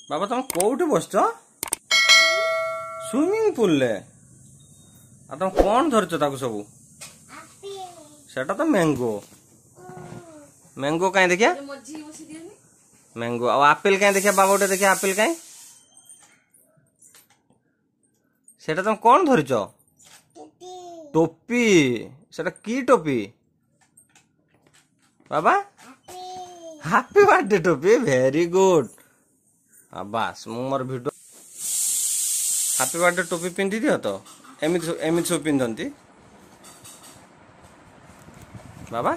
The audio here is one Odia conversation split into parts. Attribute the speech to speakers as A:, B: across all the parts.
A: ବାବା ତମେ କୋଉଠି ବସିଛ? ସୁଇମିଂ ପୁଲରେ। ଆଉ ତମେ କଣ ଧରିଛ ତାକୁ ସବୁ? ସେଟା ତ ମ୍ୟାଙ୍ଗୋ। ମ୍ୟାଙ୍ଗୋ କାଇଁ ଦେଖିଆ? ମ୍ୟାଙ୍ଗୋ ଆଉ ଆପେଲ କାଇଁ ଦେଖିଆ ବାବା ଗୋଟେ ଦେଖିଆ ଆପେଲ କାଇଁ? ସେଟା ତମେ କଣ ଧରିଛ? ଟୋପି। ସେଟା କି ଟୋପି ବାବା? ହାପି ବାର୍ଥଡେ ଟୋପି। Very good. ବାସ୍ ମୁଁ ମୋର ଭିଡ଼ିଓ। ହାପି ବାର୍ଥଡେ ଟୋପି ପିନ୍ଧି ଦିଅ ତ। ଏମିତି ଏମିତି ସବୁ ପିନ୍ଧନ୍ତି ବାବା?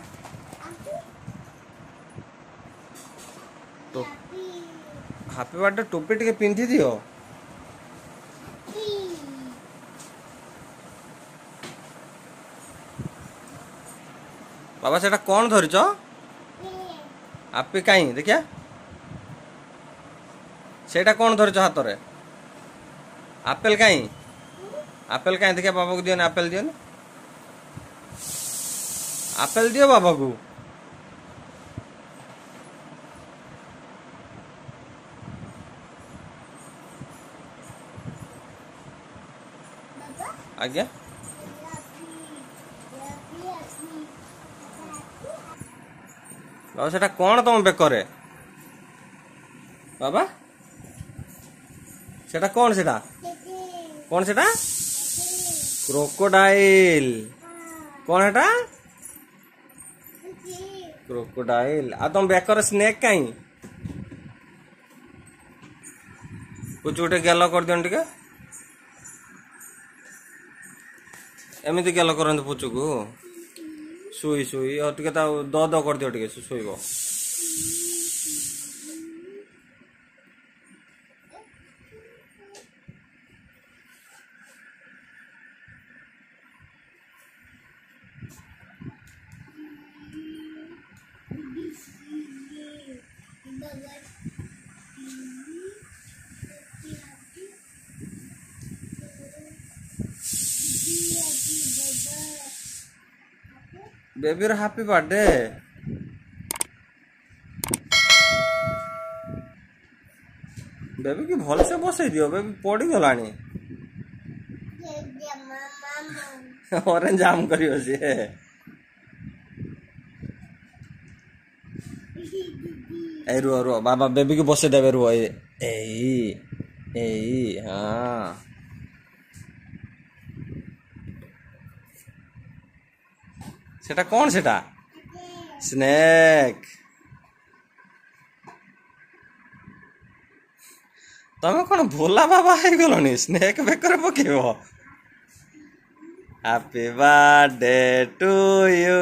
A: ହାପି ବାର୍ଥଡେ ଟୋପି ଟିକେ ପିନ୍ଧି ଦିଅ। ବାବା ସେଟା କଣ ଧରିଛ? ଆପି କାଇଁ ଦେଖିଆ? ସେଇଟା କଣ ଧରିଛ ହାତରେ? ଆପେଲ କାଇଁ? ଆପେଲ କାଇଁ ଦେଖିଆ? ବାବାକୁ ଦିଅନି, ଆପେଲ ଦିଅନି, ଆପେଲ ଦିଅ ବାବାକୁ। ଆଜ୍ଞା ବାବା ସେଟା କଣ ତମ ବେକରେ ବାବା? ସେଟା କଣ? ସେଟା କଣ? ସେଟା କ୍ରୋକୋଡାଇଲ। କଣ ସେଟା? କ୍ରୋକୋଡାଇଲ। ଆଉ ତମ ବେକରେ ସ୍ନେକ୍ କାଇଁ? ପୁଚୁ ଗୋଟେ ଗେଲ କରିଦିଅନି ଟିକେ। ଏମିତି ଗେଲ କରନ୍ତୁ ପୁଚୁକୁ। ଶୋଇ ଶୋଇ ଆଉ ଟିକେ ତାକୁ ଦ ଦ କରିଦିଅ ଟିକେ, ଶୋଇବ। ବେବିର ହାପି ବାର୍ଥଡେ। ବେବି କି ଭଲସେ ବସେଇ ଦିଅ, ବେବି ପଡିଗଲାଣି। ଅରେଞ୍ଜ ଜାମ୍ କରିବ ସିଏ। ଏଇ ରୁହ ରୁହ ବାବା, ବେବିକୁ ବସେଇ ଦେବେ, ରୁହ। ଏଇ ଏଇ, ହଁ ସେଟା କଣ? ସେଟା ସ୍ନେକ୍। ତମେ କଣ ଭୋଲା ବାବା ହେଇଗଲଣି? ସ୍ନେକ୍ ବେକରେ ପକେଇବ? Happy birthday to you.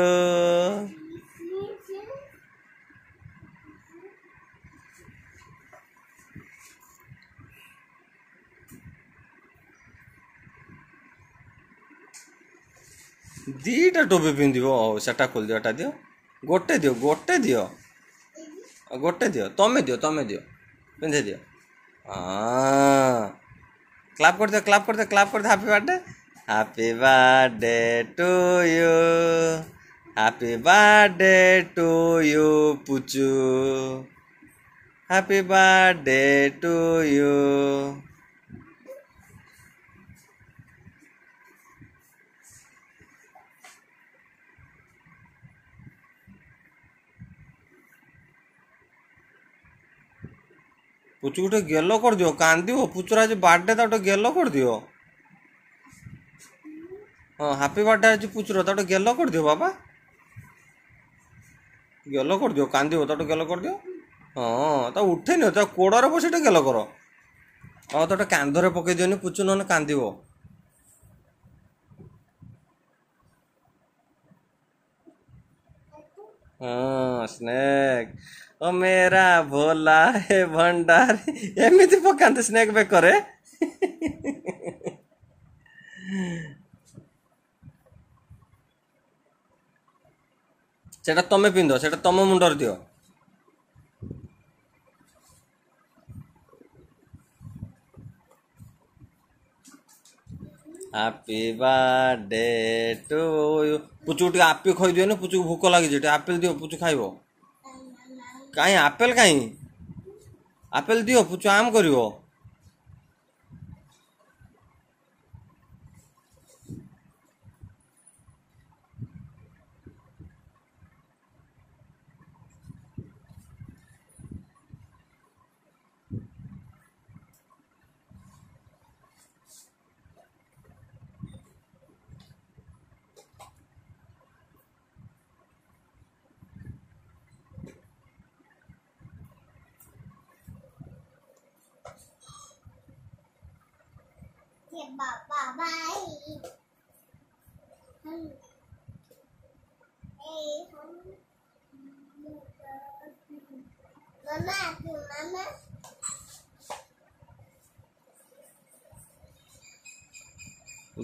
A: ଦିଟା ଟୋପି ପିନ୍ଧିବ? ହଉ ସେଟା ଖୋଲିଦିଅ, ଏଟା ଦିଅ, ଗୋଟେ ଦିଅ, ଗୋଟେ ଦିଅ, ଗୋଟେ ଦିଅ, ତମେ ଦିଅ, ତମେ ଦିଅ, ପିନ୍ଧେଇ ଦିଅ। ହଁ, କ୍ଲାପ୍ କରିଦିଅ, କ୍ଲାପ୍ କରିଦିଅ, କ୍ଲାପ୍ କରିଦିଅ। Happy birthday, happy birthday to you, happy birthday to you Puchu, happy birthday to you. ପୁଚୁକୁ ଟିକେ ଗେଲ କରିଦିଅ, କାନ୍ଦିବ। ପୁଚୁର ଆଜି ବାର୍ଥଡେ, ତାକୁ ଟିକେ ଗେଲ କରିଦିଅ। ହଁ, ହାପି ବାର୍ଥଡେ ଆଜି ପୁଚୁର, ତାକୁ ଟିକେ ଗେଲ କରିଦିଅ ବାବା, ଗେଲ କରିଦିଅ, କାନ୍ଦିବ, ତାକୁ ଟିକେ ଗେଲ କରିଦିଅ। ହଁ, ତାକୁ ଉଠେଇ ନିଅ, ତା କୋଡ଼ରେ ବସି ଟିକେ ଗେଲ କର। ଆଉ ତାକୁ କାନ୍ଧରେ ପକେଇ ଦିଅନି ପୁଚୁ, ନହେଲେ କାନ୍ଦିବ। ହଁ, ସ୍ନେକ୍। ଓ ମେରା ଭୋଲା ହେ ଭଣ୍ଡାରୀ। ଏମିତି ପକାନ୍ତି ସ୍ନେକ୍ ବେକରେ? ସେଟା ତମେ ପିନ୍ଧ, ସେଟା ତମ ମୁଣ୍ଡରେ ଦିଅ। Happy birthday to you. ପୁଚୁକୁ ଟିକେ ଆପି ଖୋଇଦିଅନି, ପୁଚୁକୁ ଭୋକ ଲାଗିଛି, ଟିକେ ଆପେଲ ଦିଅ, ପୁଚୁ ଖାଇବ। କାଇଁ ଆପେଲ କାଇଁ? ଆପେଲ ଦିଅ, ପୁଚୁ ଆମ୍ କରିବ।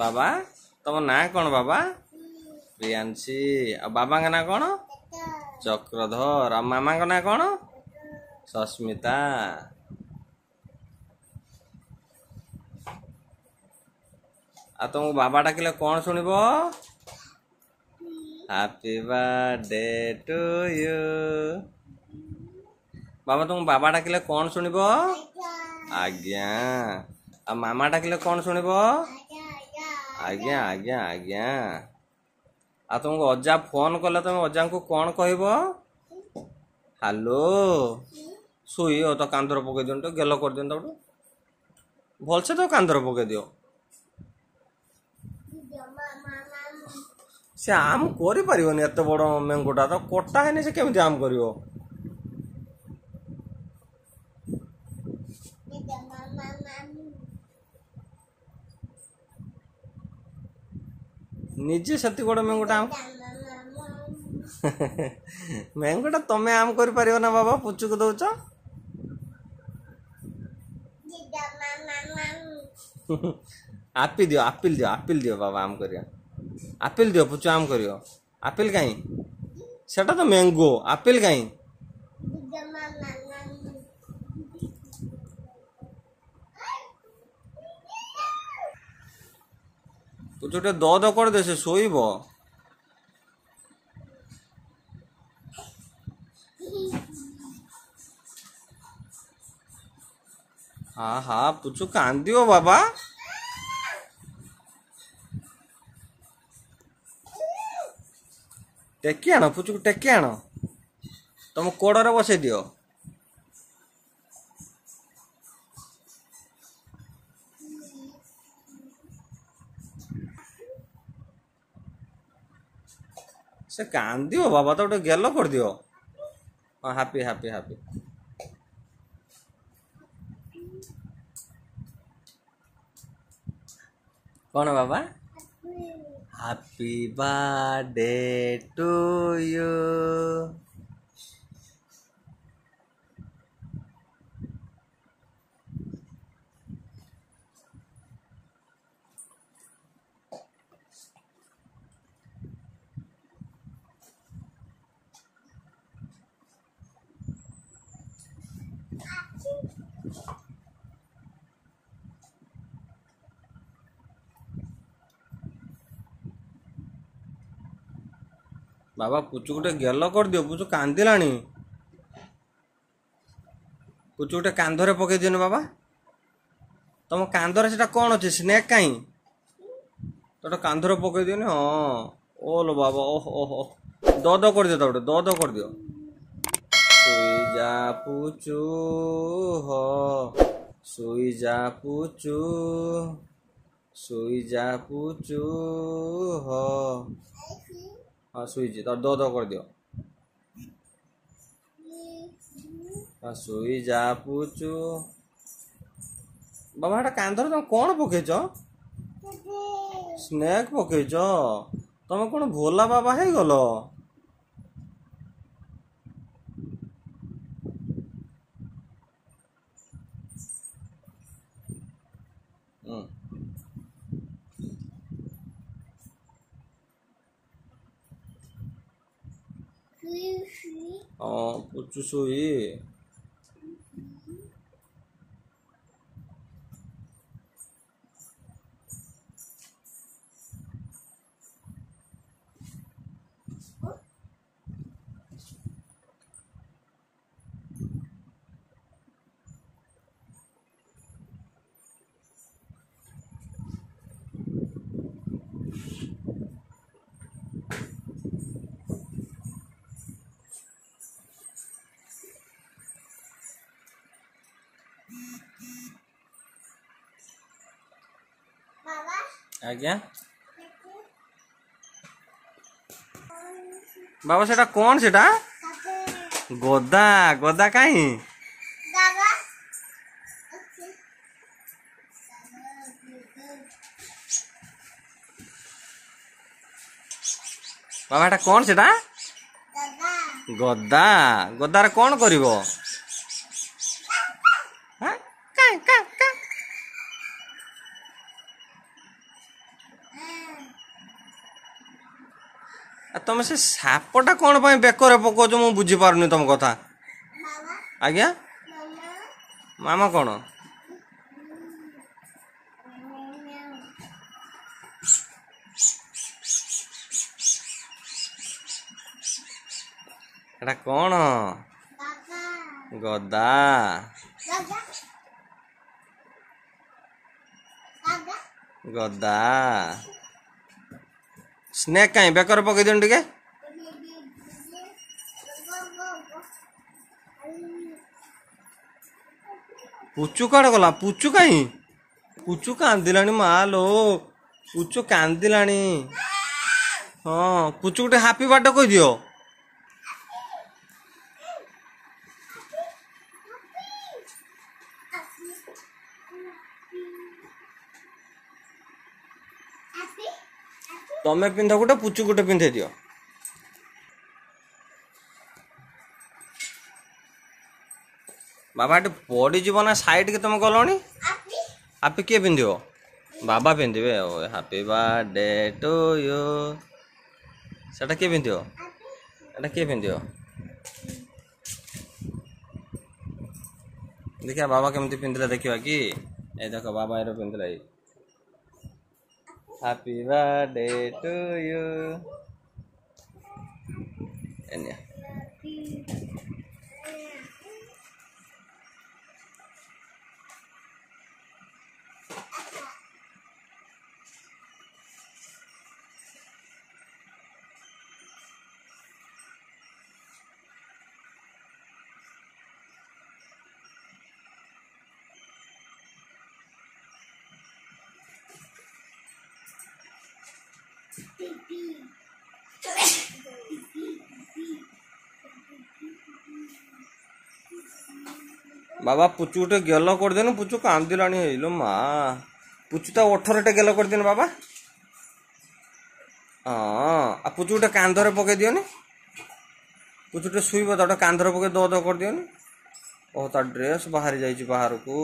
A: ବାବା, ତମ ନାଁ କ'ଣ ବାବା? ପ୍ରିୟାଂଶୀ। ଆଉ ବାବାଙ୍କ ନାଁ କ'ଣ? ଚକ୍ରଧର। ଆଉ ମାମାଙ୍କ ନାଁ କ'ଣ? ସସ୍ମିତା। ଆଉ ତମକୁ ବାବା ଡାକିଲେ କ'ଣ ଶୁଣିବ? Happy birthday to you. ବାବା, ତମକୁ ବାବା ଡାକିଲେ କ'ଣ ଶୁଣିବ? ଆଜ୍ଞା। ଆଉ ମାମା ଡାକିଲେ କ'ଣ ଶୁଣିବ? ଆଜ୍ଞା ଆଜ୍ଞା ଆଜ୍ଞା। ଆଉ ତମକୁ ଅଜା ଫୋନ୍ କଲେ ତମେ ଅଜାଙ୍କୁ କ'ଣ କହିବ? ହ୍ୟାଲୋ। ଶୋଇ ତ କାନ୍ଧରେ ପକେଇ ଦିଅନ୍ତୁ, ଗେଲ କରିଦିଅନ୍ତୁ ତାକୁ ଭଲସେ, ତ କାନ୍ଧରେ ପକେଇ ଦିଅ। ସେ ଆମ୍ କରିପାରିବନି, ଏତେ ବଡ଼ ମ୍ୟାଙ୍ଗୋଟା ତ କଟା ହେଇନି, ସେ କେମିତି ଆମ୍ କରିବ? ନିଜେ ସେତିକି ବଡ଼ ମ୍ୟାଙ୍ଗୋଟା ଆମ୍, ମ୍ୟାଙ୍ଗୋଟା ତମେ ଆମ୍ କରିପାରିବ ନା ବାବା, ପୁଚୁକୁ ଦଉଛ? ଆପି ଦିଅ, ଆପିଲ ଦିଅ, ଆପିଲ ଦିଅ ବାବା, ଆମ୍ କରିବା। ଆପିଲ ଦିଅ, ପୁଚୁ ଆମ୍ କରିବ। ଆପିଲ କାହିଁ? ସେଟା ତ ମ୍ୟାଙ୍ଗୋ, ଆପିଲ କାହିଁ? ପୁଚୁ ଟିକେ ଦ ଦ କରିଦେ, ସେ ଶୋଇବ। ହଁ ହଁ, ପୁଚୁ କାନ୍ଦିବ ବାବା। ଟେକି ଆଣ ପୁଚୁକୁ, ଟେକି ଆଣ, ତମ କୋଡ଼ରେ ବସେଇ ଦିଅ। ସେ କାନ୍ଦିବ ବାବା, ତ ଗୋଟେ ଗେଲ କରିଦିଅ। ହଁ, ହାପି ହାପି ହାପି। କ'ଣ ବାବା? Happy birthday to you. ବାବା, ପୁଚୁ ଗୋଟେ ଗେଲ କରିଦିଅ, ପୁଚୁ କାନ୍ଦିଲାଣି। ପୁଚୁ ଗୋଟେ କାନ୍ଧରେ ପକେଇ ଦିଅନି ବାବା। ତମ କାନ୍ଧରେ ସେଟା କ'ଣ ଅଛି? ସ୍ନେକ୍ କାହିଁ? ତୋଟା କାନ୍ଧରେ ପକେଇ ଦିଅନି। ହଁ, ଓଲୋ ବାବା, ଓହ ଓହ, ଦ ଦ କରିଦିଅ ତା ଗୋଟେ, ଦ ଦ କରିଦିଅ। ଶୋଇ ଯା ପୁଚୁ, ହ ଶୋଇ ଯା ପୁଚୁ, ଶୋଇ ଯା ପୁଚୁ, ହ। ହଁ, ଶୋଇଛି ତ, ଦ ଦ କରିଦିଅ। ହଁ, ଶୋଇ ଯା ପୁଚୁ। ବାବା, ହେଟା କାନ୍ଧରେ ତମେ କ'ଣ ପକେଇଛ? ସ୍ନେକ୍ ପକେଇଛ? ତମେ କ'ଣ ଭୋଲା ବାବା ହେଇଗଲ? ହଁ, ପୁଚୁ ଶୋଇ। ଆଜ୍ଞା ବାବା, ସେଟା କଣ? ସେଟା ଗଦା। ଗଦା କାହିଁ? ବାବା, ଏଟା କଣ? ସେଟା ଗଦା। ଗଦାରେ କଣ କରିବ? ତମେ ସେ ସାପଟା କଣ ପାଇଁ ବେକରେ ପକଉଛ, ମୁଁ ବୁଝିପାରୁନି ତମ କଥା। ଆଜ୍ଞା ମାମା, କଣ ଏଟା? କଣ? ଗଦା। ଗଦା। ସ୍ନେକ୍ କାହିଁ ବେକରେ ପକେଇ ଦିଅନ୍ତୁ ଟିକେ। ପୁଚୁ କୁଆଡ଼େ ଗଲା? ପୁଚୁ କାହିଁ? ପୁଚୁ କାନ୍ଦିଲାଣି ମା ଲୋ, ପୁଚୁ କାନ୍ଦିଲାଣି। ହଁ, ପୁଚୁ ଗୋଟେ ହାପି ବାର୍ଥଡେ କହିଦିଅ। ତମେ ପିନ୍ଧ ଗୋଟେ, ପୁଚୁ ଗୋଟେ ପିନ୍ଧେଇ ଦିଅ। ବାବା, ଏଠି ପଡ଼ିଯିବ ନା, ସାଇଡ୍ କି ତମେ ଗଲଣି। ହାପି କିଏ ପିନ୍ଧିବ? ବାବା ପିନ୍ଧିବେ। ଆଉ ହାପି ବାର୍ଥଡେ ଟୁ you, ସେଟା କିଏ ପିନ୍ଧିବ? ଏଟା କିଏ ପିନ୍ଧିବ? ଦେଖିବା ବାବା କେମିତି ପିନ୍ଧିଲେ, ଦେଖିବା କି। ଏ ଦେଖ, ବାବା ଏର ପିନ୍ଧିଲା। ଏଇ ହାପି ବାର୍ଥଡେ ଟୁ you. ନିଅ। ବାବା, ପୁଚୁ ଗୋଟେ ଗେଲ କରିଦେନୁ, ପୁଚୁ କାନ୍ଦିଲାଣି। ହେଇଲୋ ମା, ପୁଚୁ ତା ଓଠରେ ଟିକେ ଗେଲ କରିଦିଅନି ବାବା। ହଁ, ଆଉ ପୁଚୁ ଗୋଟେ କାନ୍ଧରେ ପକେଇ ଦିଅନି। ପୁଚୁ ଟିକେ ଶୋଇବ, ତା ଗୋଟେ କାନ୍ଧରେ ପକେଇ ଦ ଦ କରିଦିଅନି। ଓହୋ, ତା ଡ୍ରେସ୍ ବାହାରି ଯାଇଛି ବାହାରକୁ।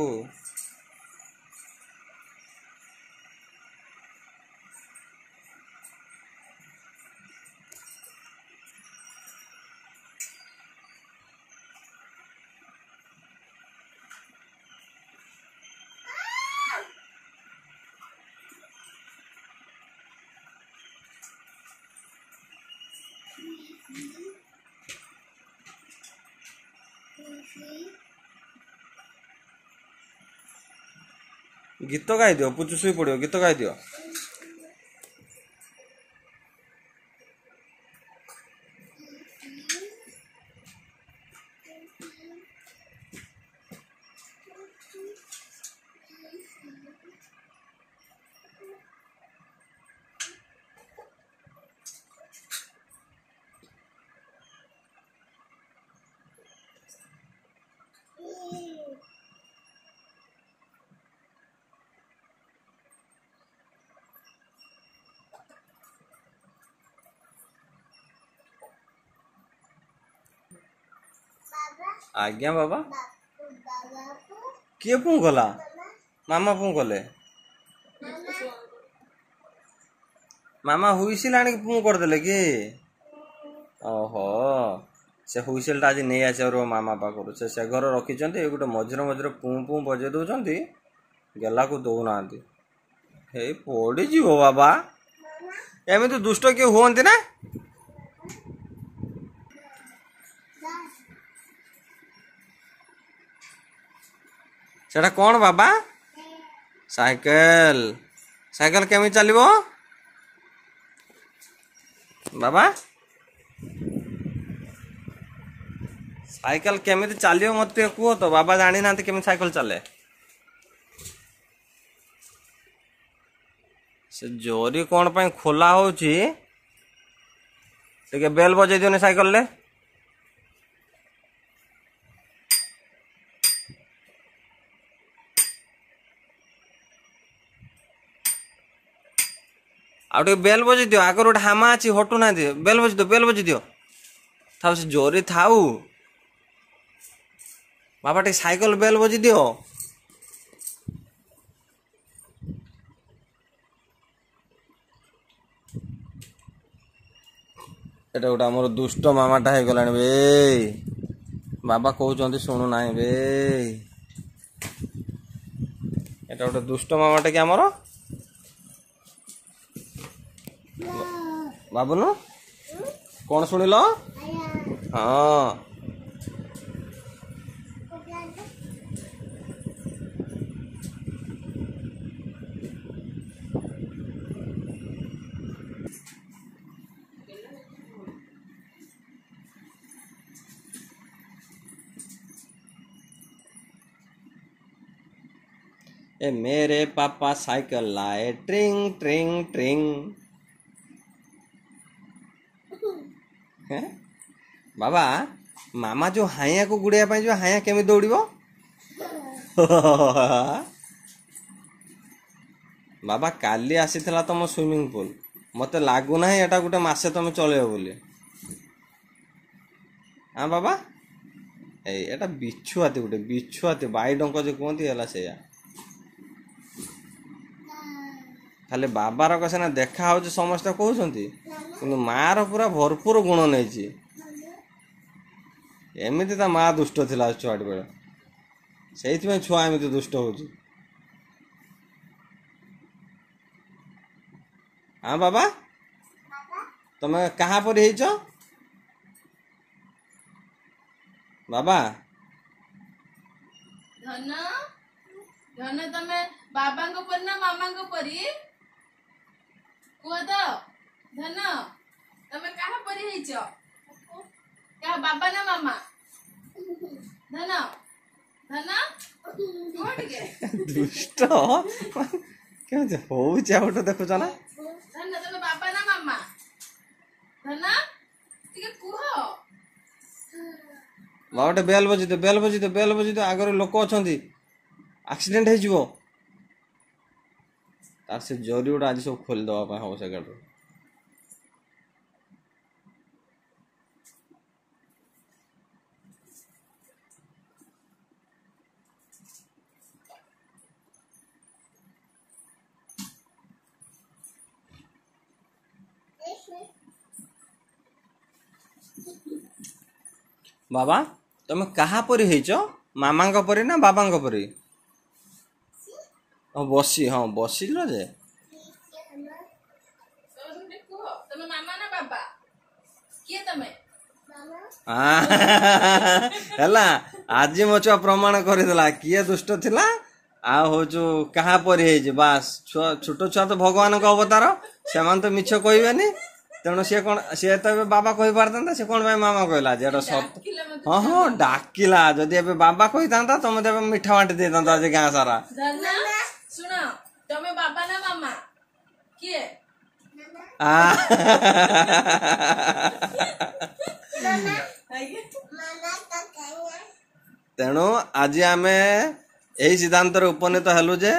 A: ଗୀତ ଗାଇଦିଅ, ପୁଚୁ ଶୋଇ ପଡ଼ିବ। ଗୀତ ଗାଇଦିଅ। ଆଜ୍ଞା ବାବା, କିଏ ପୁଁ କଲା? ମାମା ପୁଁ କଲେ? ମାମା ହୁଇସିଲ ଆଣିକି ପୁଁ କରିଦେଲେ କି? ଓହୋ, ସେ ହୁଇସିଲଟା ଆଜି ନେଇ ଆସିବ ରୁହ ମାମା ପାଖରୁ। ସେ ଘରେ ରଖିଛନ୍ତି। ଏ ଗୋଟେ ମଝିରେ ମଝିରେ ପୁଁ ପୁଁ ବଜେଇ ଦଉଛନ୍ତି, ଗେଲାକୁ ଦଉନାହାନ୍ତି। ହେଇ ପଡ଼ିଯିବ ବାବା, ଏମିତି ଦୁଷ୍ଟ କିଏ ହୁଅନ୍ତି ନା? ସେଟା କଣ ବାବା? ସାଇକେଲ। ସାଇକେଲ କେମିତି ଚାଲିବ ବାବା? ସାଇକେଲ କେମିତି ଚାଲିବ ମତେ ଟିକେ କୁହ ତ। ବାବା ଜାଣିନାହାନ୍ତି କେମିତି ସାଇକେଲ ଚାଲେ। ସେ ଜରି କ'ଣ ପାଇଁ ଖୋଲା ହେଉଛି? ଟିକେ ବେଲ୍ ବଜେଇ ଦିଅନି ସାଇକେଲରେ। ଆଉ ଟିକେ ବେଲ୍ ବଜେଇ ଦିଅ। ଆଗରୁ ଗୋଟେ ହାମା ଅଛି, ହଟୁନାହାନ୍ତି। ବେଲ୍ ବଜେଇ ଦିଅ, ବେଲ୍ ବଜେଇ ଦିଅ। ଥାଉ, ସେ ଜରି ଥାଉ। ବାବା, ଟିକେ ସାଇକେଲ ବେଲ୍ ବଜେଇ ଦିଅ। ଏଟା ଗୋଟେ ଆମର ଦୁଷ୍ଟ ମାମାଟା ହେଇଗଲାଣି ବେ। ବାବା କହୁଛନ୍ତି, ଶୁଣୁନାହିଁ ବେ। ଏଟା ଗୋଟେ ଦୁଷ୍ଟ ମାମାଟା କି ଆମର ବାବୁନୁ? କଣ ଶୁଣିଲ? ହଁ, ए मेरे पापा साइकिल लाए, ट्रिंग ट्रिंग ट्रिंग। ବାବା, ମାମା ଯୋଉ ହାଇଆକୁ ଗୁଡେଇବା ପାଇଁ ଯିବ, ହାଇଆ କେମିତି ଦୌଡ଼ିବ? ବାବା, କାଲି ଆସିଥିଲା ତମ ସୁଇମିଂ ପୁଲ, ମତେ ଲାଗୁନାହିଁ ଏଟା ଗୋଟେ ମାସେ ତମେ ଚଳେଇବ ବୋଲି। ହଁ ବାବା, ଏଇ ଏଟା ବିଛୁଆତି, ଗୋଟେ ବିଛୁଆତି, ବାଇଡଙ୍କ ଯୋଉ କୁହନ୍ତି ହେଲା ସେଇଆ। ଖାଲି ବାବାର ସିନା ଦେଖା ହଉଛି, ସମସ୍ତେ କହୁଛନ୍ତି, କିନ୍ତୁ ମାର ପୁରା ଭରପୁର ଗୁଣ ନେଇଛି। ଏମିତି ତା ମା ଦୁଷ୍ଟ ଥିଲା ଛୁଆଟି ବେଳେ, ସେଇଥିପାଇଁ ଛୁଆ ଏମିତି ଦୁଷ୍ଟ ହଉଛି। ହଁ ବାବା, ତମେ କାହା ପରି ହେଇଛ ବାବା?
B: ଧନ, ଧନ, ତମେ ବାବାଙ୍କ ପରି ନା ମାମାଙ୍କ ପରି, କୁହ ତ। ଧନ, ତମେ କାହା ପରି ହେଇଛ? କାହା, ବାବା ନା ମାମା? ଧନ, ଧନ, କୁହ ଟିକେ।
A: ଦୁଷ୍ଟ କେମିତି ହଉଛି ଆଉ ଗୋଟେ ଦେଖୁଛ ନା?
B: ଧନ, ତମେ ବାବା ନା ମାମା? ଧନ, ଟିକେ କୁହ।
A: ବାବା, ଗୋଟେ ବେଲ୍ ବଜେଇ ଦିଅ, ବେଲ୍ ବଜେଇ ଦିଅ, ବେଲ୍ ବଜେଇ ଦିଅ। ଆଗରେ ଲୋକ ଅଛନ୍ତି, ଆକ୍ସିଡେଣ୍ଟ ହେଇଯିବ। ତାର ସେ ଜରି ଗୁଡ଼ା ଆଜି ସବୁ ଖୋଲିଦେବା ପାଇଁ ହବ ସେ ଗାଡ଼ିରୁ। ବାବା, ତମେ କାହା ପରି ହେଇଛ? ମାମାଙ୍କ ପରି ନା ବାବାଙ୍କ ପରି? ହଁ, ବସି, ହଁ ବସିଲ ଯେ।
B: ତମେ ଟିକେ କୁହ, ତମେ ମାମା ନା ବାବା, କିଏ ତମେ?
A: ହେଲା, ଆଜି ମୋ ଛୁଆ ପ୍ରମାଣ କରିଦେଲା କିଏ ଦୁଷ୍ଟ ଥିଲା ଆଉ ହଉଛୁ କାହା ପରି ହେଇଛି। ବାସ୍, ଛୁଆ, ଛୋଟ ଛୁଆ ତ ଭଗବାନଙ୍କ ଅବତାର, ସେମାନେ ତ ମିଛ କହିବେନି। ତେଣୁ ସିଏ କଣ, ସିଏ ତ ଏବେ ବାବା କହିପାରିଥାନ୍ତା, ସେ କଣ ପାଇଁ ମାମା କହିଲା ଯେ ଏଟା ସତ?
B: ଡାକିଲା ମତେ।
A: ହଁ, ଡାକିଲା। ଯଦି ଏବେ ବାବା କହିଥାନ୍ତା, ତମେ ତ ଏବେ ମିଠା ବାଣ୍ଟି ଦେଇଥାନ୍ତା ଆଜି ଗାଁ ସାରା।
B: ଧନ, ଶୁଣ, ତମେ ବାବା ନା ମାମା, କିଏ?
A: ଆ,
B: ଆଜ୍ଞା।
A: ତେଣୁ ଆଜି ଆମେ ଏହି ସିଦ୍ଧାନ୍ତରେ ଉପନୀତ ହେଲୁ ଯେ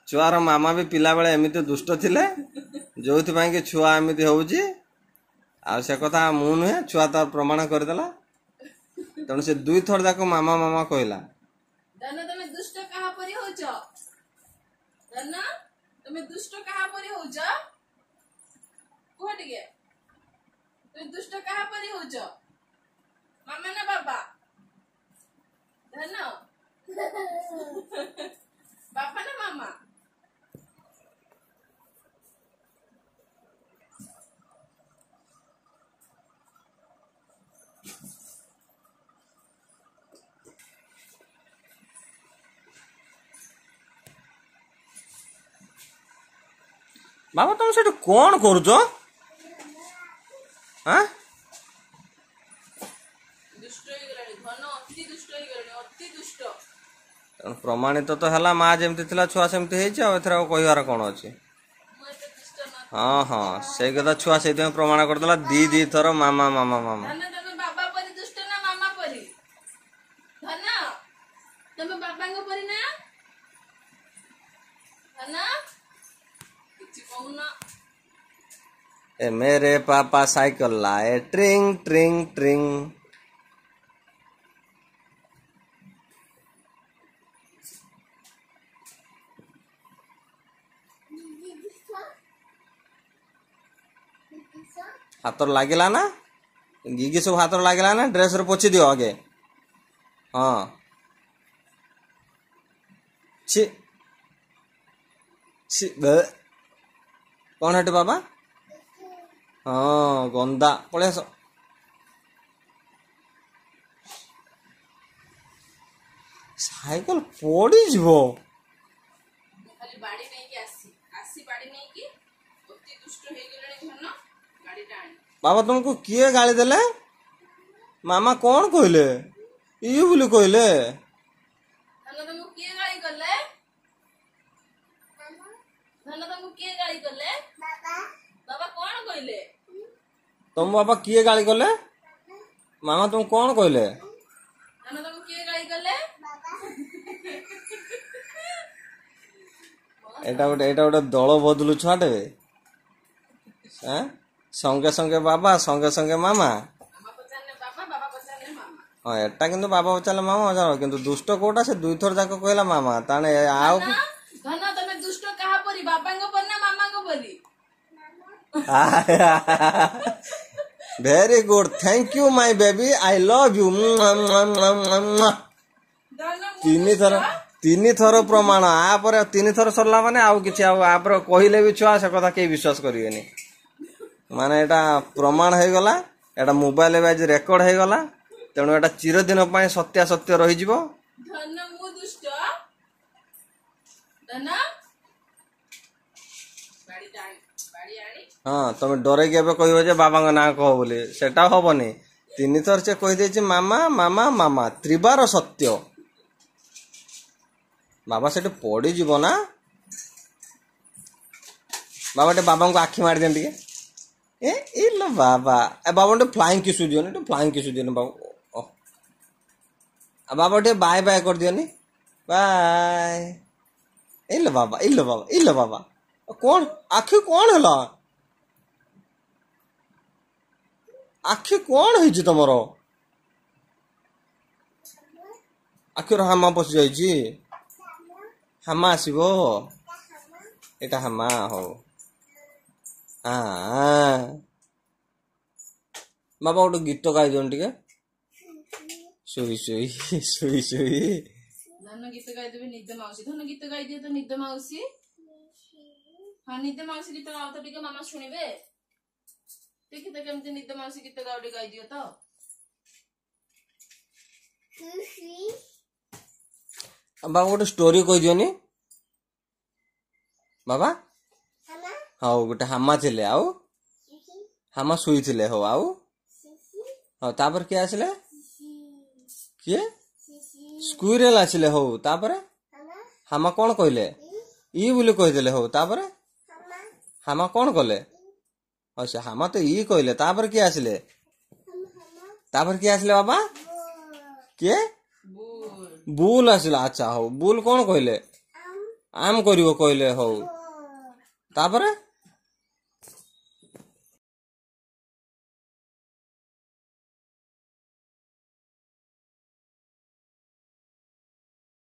A: ଛୁଆର ମାମା ବି ପିଲାବେଳେ ଏମିତି ଦୁଷ୍ଟ ଥିଲେ, ଯୋଉଥିପାଇଁ କି ଛୁଆ ଏମିତି ହଉଛି। ଆଉ ସେ କଥା ମୁଁ ନୁହେଁ, ଛୁଆ ତାର ପ୍ରମାଣ କରିଦେଲା। ତେଣୁ ସେ ଦୁଇଥର ଯାକ ମାମା ମାମା କହିଲା।
B: ଧନ, ତମେ ଦୁଷ୍ଟ କାହା ପରି ହଉଛ? ଧନ, ତମେ ଦୁଷ୍ଟ କାହା ପରି ହଉଛ, କୁହ ଟିକେ। ତମେ ଦୁଷ୍ଟ କାହା ପରି ହଉଛ, ମାମା ନା ବାବା? ଧନ, ବାବା ନା ମାମା?
A: ବାବା, ତମେ ସେଠି କଣ କରୁଛ? ଆଁ,
B: ଦୁଷ୍ଟ ହେଇଗଲାଣି ଧନ, ଅତି ଦୁଷ୍ଟ ହେଇଗଲାଣି, ଅତି ଦୁଷ୍ଟ।
A: ତେଣୁ ପ୍ରମାଣିତ ତ ହେଲା, ମା ଯେମିତି ଥିଲା ଛୁଆ ସେମିତି ହେଇଛି। ଆଉ ଏଥିରେ ଆଉ କହିବାର କଣ ଅଛି? ହଁ ହଁ, ସେଇ କଥା ଛୁଆ ସେଇଥିପାଇଁ ପ୍ରମାଣ କରିଦେଲା ଦି ଦି ଥର ମାମା ମାମା ମାମା।
B: ଧନ, ତମେ ବାବା ପରି ଦୁଷ୍ଟ ନା ମାମା ପରି? ଧନ, ତମେ ବାବାଙ୍କ ପରି ନା? ଧନ, କିଛି କହୁନ।
A: ଏ मेरे पापा साइकिल लाए ट्रिंग ट्रिंग ट्रिंग। ହାତରେ ଲାଗିଲା ନା ଗିଗି ସବୁ ହାତରେ ଲାଗିଲା ନା? ଡ୍ରେସରେ ପୋଛି ଦିଅ ଆଗେ। ହଁ, ଛି ଛି, କଣ ହେଠି ବାବା? ହଁ, ଗନ୍ଦା, ପଳେଇ ଆସ। ସାଇକେଲ ପଡିଯିବ।
B: ଖାଲି ବାଡି ନେଇକି ଆସି ଆସି, ବାଡି ନେଇକି ଅତି ଦୁଷ୍ଟ ହେଇଗଲେଣି। ଧନ, ଗାଡିଟା ଆଣି।
A: ବାବା, ତୁମକୁ କିଏ ଗାଳି ଦେଲେ? ମାମା କଣ କହିଲେ? ଇଏ ବୋଲି କହିଲେ?
B: ଧନ, ତମକୁ କିଏ ଗାଳି କଲେ? ଧନ, ତମକୁ କିଏ ଗାଳି କଲେ? ବାବା କଣ କହିଲେ?
A: ତମ ବାବା କିଏ ଗାଳି କଲେ? ମାମା ତୁମକୁ କଣ କହିଲେ?
B: ଧନ, ତମକୁ କିଏ ଗାଳି କଲେ?
A: ଏଇଟା ଗୋଟେ ଦଳ ବଦଲୁ ଛୁଆଟେ। ସଙ୍ଗେ ସଙ୍ଗେ ବାବା, ସଙ୍ଗେ ସଙ୍ଗେ ମାମା।
B: ମାମା ପଚାରିଲେ ବାବା, ବାବା ପଚାରିଲେ ମାମା।
A: ହଁ, ଏଟା କିନ୍ତୁ ବାବା ପଚାରିଲେ ମାମା, କିନ୍ତୁ ଦୁଷ୍ଟ କୋଉଟା? ସେ ଦୁଇଥର ଯାକ କହିଲା ମାମା। ତାହେଲେ ଆଉ
B: ଧନ, ଧନ, ତମେ ଦୁଷ୍ଟ କାହା ପରି, ବାବାଙ୍କ ପରି ନା ମାମାଙ୍କ ପରି?
A: Very good, thank you my baby, I love you.
B: ଧନ, ମୁଁ
A: ତିନି ଥର, ତିନି ଥର ପ୍ରମାଣ। ଆପରେ ତିନି ଥର ସରିଲା ମାନେ ଆଉ କିଛି ଆଉ ଆପରେ କହିଲେ ବି ଛୁଆ ସେ କଥା କେହି ବିଶ୍ୱାସ କରିବେନି। ମାନେ ଏଇଟା ପ୍ରମାଣ ହେଇଗଲା, ଏଇଟା ମୋବାଇଲ ଏବେ ଆଜି ରେକର୍ଡ ହେଇଗଲା, ତେଣୁ ଏଇଟା ଚିରଦିନ ପାଇଁ ସତ୍ୟାସତ୍ୟ ରହିଯିବ।
B: ଧନ, ମୁଁ ଦୁଷ୍ଟ? ଧନ, ବାଡିଟା ଆଣି, ବାଡି ଆଣି।
A: ହଁ, ତମେ ଡରେଇକି ଏବେ କହିବ ଯେ ବାବାଙ୍କ ନାଁ କହ ବୋଲି, ସେଟା ହବନି। ତିନି ଥର ସେ କହିଦେଇଛି ମାମା ମାମା ମାମା, ତ୍ରିବାର ସତ୍ୟ। ବାବା, ସେଠି ପଡିଯିବ ନା ବାବା? ଟିକେ ବାବାଙ୍କୁ ଆଖି ମାରିଦିଅନ୍ତି ଟିକେ। ଏ ଇଲୋ ବାବା, ଏ ବାବା, ଟିକେ ଫ୍ଲାଇଂ କିସୁ ଦିଅନି, ଟିକେ ଫ୍ଲାଇଂ କିସୁ ଦିଅନି ବାବୁ। ଆଉ ବାବା, ଟିକେ ବାଏ ବାଏ କରିଦିଅନି, ବାଏ। ଇଲୋ ବାବା, ଇଲୋ ବାବା, ଇଲୋ ବାବା, କଣ ଆଖି କଣ ହେଲା? ଆଖି କଣ ହେଇଛି ତମର? ଆଖିର ହାମା ପଶି ଯାଇଛି। ହାମା ଆସିବ? ଏଇଟା ହାମା। ହଉ ବାବା, ଗୋଟେ ଗୀତ ଗାଇ ଦିଅନ୍ତୁ ଟିକେ, ଶୋଇ ଶୋଇ ଶୋଇ ଶୋଇ।
B: ଧନ ଗୀତ ଗାଇଦେବେ ନିଦ ମାଉସୀ। ଧନ, ଗୀତ ଗାଇଦିଅ ତ ନିଦ ମାଉସୀ। ହଁ, ନିଦ ମାଉସୀ ଗୀତ ଗାଅ ତ ଟିକେ, ମାମା ଶୁଣିବେ। ଦେଖି ତ କେମିତି ନିଦ ମାଉସୀ ଗୀତ ଗାଅ ଟିକେ, ଗାଇଦିଅ ତ।
A: ବାବା, ଗୋଟେ ଷ୍ଟୋରି କହିଦିଅନି ବାବା। ହଉ, ଗୋଟେ ହାମା ଥିଲେ, ଆଉ ହାମା ଶୋଇଥିଲେ। ହଉ, ଆଉ ହଉ, ତାପରେ କିଏ ଆସିଲେ? କିଏ? ସ୍କୁଇରେଲ ଆସିଲେ। ହଉ, ତାପରେ ହାମା କଣ କହିଲେ? ଇ ବୋଲି କହିଦେଲେ। ହଉ, ତାପରେ ହାମା କଣ କଲେ? ହଉ, ସେ ହାମା ତ ଇ କହିଲେ। ତାପରେ କିଏ ଆସିଲେ? ତାପରେ କିଏ ଆସିଲେ ବାବା? କିଏ?
B: ବୁଲ।
A: ବୁଲ ଆସିଲା। ଆଚ୍ଛା, ହଉ, ବୁଲ କଣ କହିଲେ? ଆମ୍ କରିବ କହିଲେ। ହଉ, ତାପରେ